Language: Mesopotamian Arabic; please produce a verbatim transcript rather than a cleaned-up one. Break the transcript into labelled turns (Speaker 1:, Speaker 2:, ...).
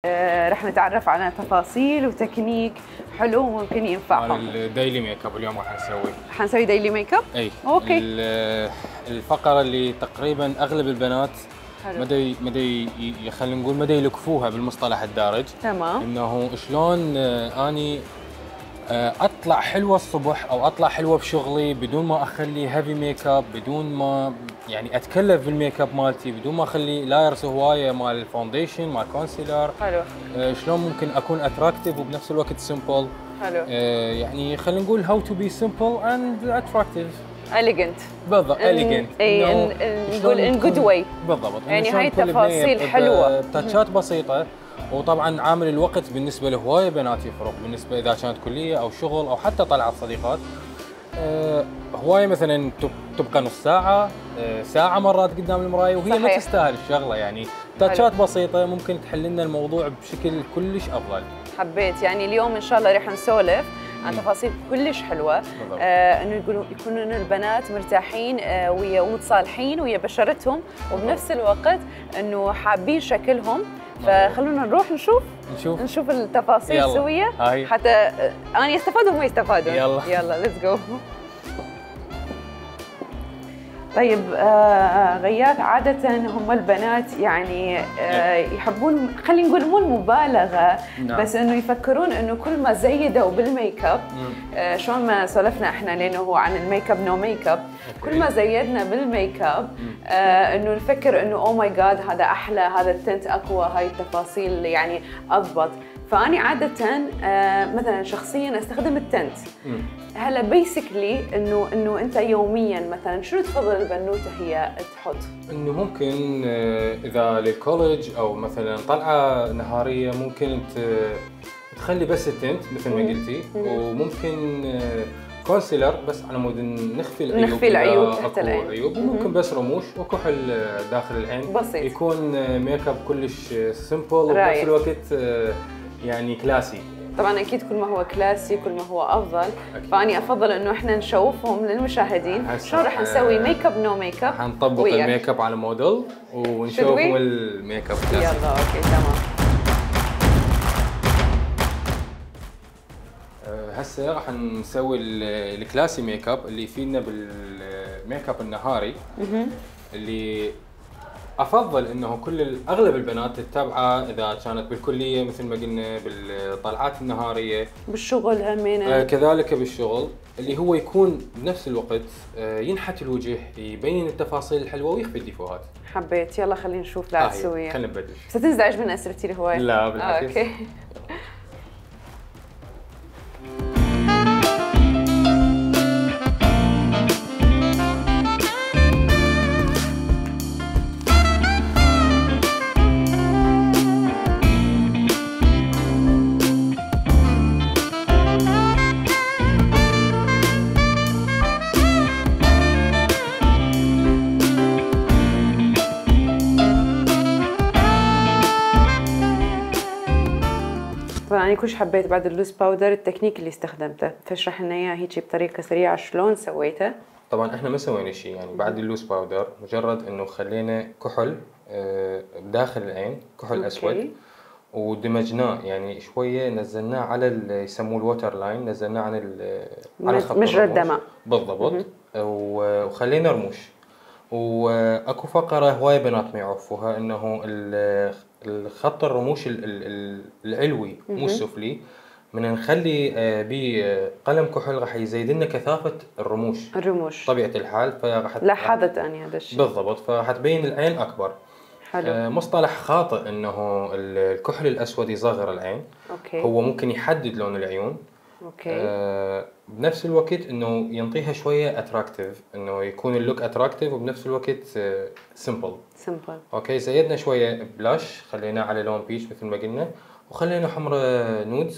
Speaker 1: آه، رح نتعرف على تفاصيل وتكنيك حلو ممكن ينفعهم.
Speaker 2: الديلي ميك اب اليوم راح نسوي
Speaker 1: حنسوي ديلي ميك اب؟
Speaker 2: اي
Speaker 1: اوكي.
Speaker 2: الفقره اللي تقريبا اغلب البنات مدى مدى خلينا نقول مدى يلكفوها بالمصطلح الدارج.
Speaker 1: تمام.
Speaker 2: انه شلون اني اطلع حلوه الصبح او اطلع حلوه بشغلي بدون ما اخلي هيفي ميك اب، بدون ما يعني اتكلف بالميك اب مالتي، بدون ما اخلي لايرز هوايه مال الفاونديشن مال كونسيلر.
Speaker 1: حلو.
Speaker 2: آه شلون ممكن اكون اتراكتيف وبنفس الوقت سمبل.
Speaker 1: حلو.
Speaker 2: آه يعني خلينا نقول هاو تو بي سمبل اند اتراكتيف.
Speaker 1: اليجنت.
Speaker 2: بالضبط اليجنت.
Speaker 1: اي نقول ان جود واي.
Speaker 2: بالضبط.
Speaker 1: يعني هاي تفاصيل حلوه.
Speaker 2: تاتشات بسيطه. وطبعا عامل الوقت بالنسبه لهوايه بنات يفرق، بالنسبه اذا كانت كليه او شغل او حتى طلعت صديقات. أه هوايه مثلا تبقى نص ساعه أه ساعه مرات قدام المرايه وهي صحيح. ما تستاهل الشغله، يعني تاتشات بسيطه ممكن تحل لنا الموضوع بشكل كلش افضل.
Speaker 1: حبيت يعني اليوم ان شاء الله رح نسولف عن تفاصيل كلش حلوه. آه انه يقولوا يكونوا البنات مرتاحين آه ويا ومتصالحين ويا بشرتهم، وبنفس الوقت انه حابين شكلهم. فخلونا نروح نشوف
Speaker 2: نشوف
Speaker 1: نشوف التفاصيل سويه حتى انا استفاد وهم يستفادون.
Speaker 2: يلا
Speaker 1: يلا ليتس جو. طيب آه غياث، عادة هم البنات يعني آه يحبون خلينا نقول مو المبالغة نعم. بس انه يفكرون انه كل ما زيدوا بالميك اب آه شلون ما سولفنا احنا لانه هو عن الميك اب نو ميك اب، كل ما زيدنا بالميك اب آه انه نفكر انه او ماي جاد هذا احلى، هذا التنت اقوى، هاي التفاصيل يعني اضبط. فاني عادة آه مثلا شخصيا استخدم التنت. هلا بيسكلي انه انه انت يوميا مثلا شنو تفضل البنوته هي تحط؟
Speaker 2: انه ممكن اذا للكولج او مثلا طلعه نهاريه ممكن انت تخلي بس التنت مثل ما قلتي، وممكن كونسيلر بس على مود نخفي العيوب،
Speaker 1: نخفي العيوب تحت العين،
Speaker 2: عيوب وممكن بس رموش وكحل داخل العين
Speaker 1: بسيط،
Speaker 2: يكون ميك اب كلش سمبل وبنفس الوقت يعني كلاسي.
Speaker 1: طبعا اكيد كل ما هو كلاسي كل ما هو افضل. أكيد. فاني افضل انه احنا نشوفهم للمشاهدين شلون راح نسوي ميك اب نو ميك اب.
Speaker 2: حنطبق الميك اب على موديل ونشوفهم الميك اب كلاسي.
Speaker 1: يلا اوكي تمام.
Speaker 2: هسه راح نسوي الكلاسي ميك اب اللي يفيدنا بالميك اب النهاري اللي افضل انه كل اغلب البنات تتبعه اذا كانت بالكليه مثل ما قلنا، بالطلعات النهاريه،
Speaker 1: بالشغل همينه
Speaker 2: آه كذلك بالشغل، اللي هو يكون بنفس الوقت آه ينحت الوجه، يبين التفاصيل الحلوه ويخفي الديفوهات.
Speaker 1: حبيت. يلا خلينا نشوف لا تسويها.
Speaker 2: خلينا نبدل.
Speaker 1: ستنزعج من اسئلتي الهوايه؟
Speaker 2: لا بالعكس.
Speaker 1: آه، اوكي. طبعا انا كلش حبيت بعد اللوز باودر التكنيك اللي استخدمته، فاشرح لنا اياه هيك بطريقه سريعه شلون سويته.
Speaker 2: طبعا احنا ما سوينا شيء يعني بعد اللوز باودر، مجرد انه خلينا كحل بداخل العين، كحل اسود ودمجناه يعني شويه، نزلناه على يسموه الووتر لاين، نزلناه عن على خط
Speaker 1: مجرى الدمع
Speaker 2: بالضبط، وخلينا رموش. واكو فقره هوايه بنات ما يعرفوها انه الخط الرموش العلوي مو السفلي، من نخلي به قلم كحل راح يزيد لنا كثافه الرموش
Speaker 1: الرموش
Speaker 2: طبيعه الحال، فراح
Speaker 1: لاحظت اني هذا الشيء
Speaker 2: بالضبط، فراح تبين العين اكبر.
Speaker 1: حلو.
Speaker 2: آه مصطلح خاطئ انه الكحل الاسود يصغر العين.
Speaker 1: اوكي.
Speaker 2: هو ممكن يحدد لون العيون.
Speaker 1: اوكي.
Speaker 2: آه بنفس الوقت انه ينطيها شويه اتراكتيف، انه يكون اللوك اتراكتيف وبنفس الوقت سمبل.
Speaker 1: سمبل.
Speaker 2: اوكي. زيدنا شويه بلاش، خليناه على لون بيش مثل ما قلنا، وخلينا حمرة نودز